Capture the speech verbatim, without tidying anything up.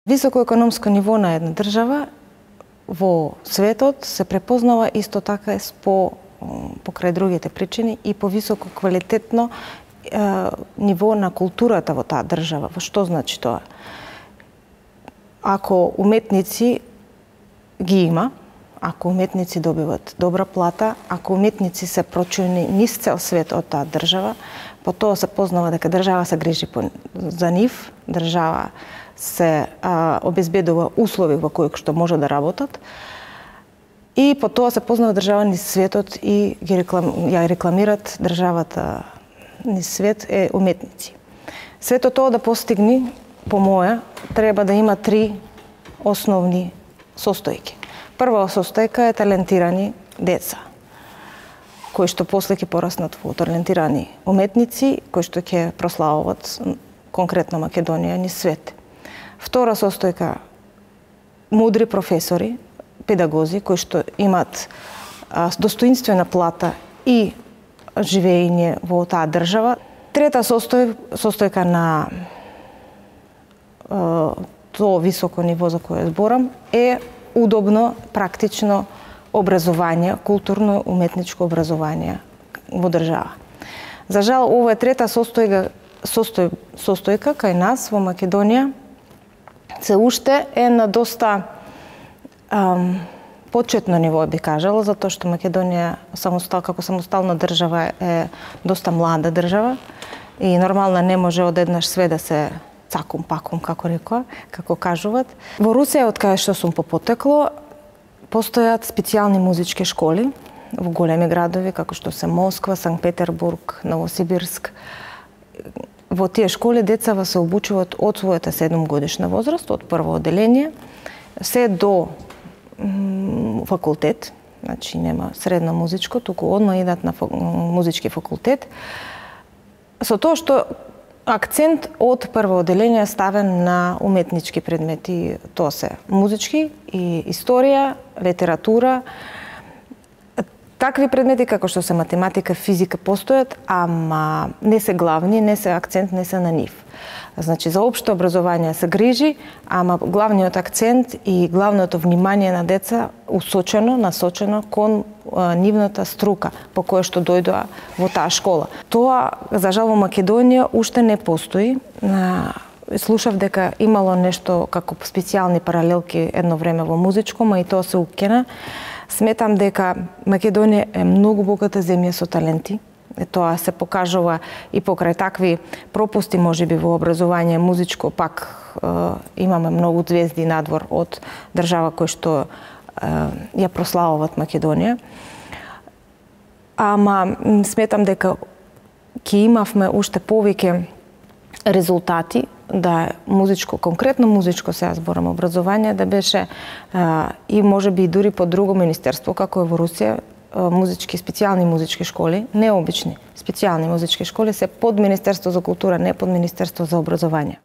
Високо економско ниво на една држава во светот се препознава исто така по покрај другите причини и по високо квалитетно е, ниво на културата во таа држава. Во што значи тоа? Ако уметници ги има, ако уметници добиват добра плата, ако уметници се прочуени низ цел свет од таа држава, по тоа се познава дека држава се грижи за нив, држава се а, обезбедува услови во кои што може да работат и по тоа се познава држава низ светот и ги реклам, ја рекламират државата низ свет е уметници. Сето тоа да постигне, по моја, треба да има три основни состојки. Прва состојка е талентирани деца, кои што после ќе пораснат во талентирани уметници, кои што ќе прославуваат конкретно Македонија низ свет. Втора состојка мудри професори, педагози кои што имаат достоинствена плата и живење во таа држава. Трета состој, состојка на е, тоа високо ниво за кое зборам е удобно, практично образование, културно-уметничко образование во држава. За жал, ова е трета состојка, состој, состојка кај нас во Македонија се уште е на доста ам, почетно ниво, би кажала, затоа што Македонија самостал, како самостална држава е доста млада држава и нормално не може одеднаш све да се цакум пакум, како рекоа, како кажуваат. Во Русија, од кај што сум по потекло, постојат специјални музички школи во големи градови, како што се Москва, Санкт Петербург, Новосибирск. Во тие школи децава се обучуваат од својата седумгодишна возраст, од прво оделение, се до факултет, значи нема средно музичко, туку одма идат на музички факултет, со тоа што акцент од прво оделение ставен на уметнички предмети, тоа се музички и историја, литература. Такви предмети како што се математика, физика постојат, ама не се главни, не се акцент, не се на нив. Значи за општо образование се грижи, ама главниот акцент и главното внимание на деца усочено, насочено кон а, нивната струка по која што дојдоа во таа школа. Тоа, за жал, во Македонија уште не постои. Слушав дека имало нешто како специјални паралелки едно време во музичко, ма и тоа се укина. Сметам дека Македонија е многу богата земја со таленти. Е, тоа се покажува и покрај такви пропусти, можеби во образование музичко, пак е, имаме многу звезди надвор од држава кои што е, ја прославуваат Македонија. Ама сметам дека ќе имавме уште повеќе резултати да музичко, конкретно музичко, сега зборам образование, да беше а, и можеби и дури по друго министерство, како е во Русија, а, музички, специјални музички школи, необични, специјални музички школи се под Министерство за култура, не под Министерство за образование.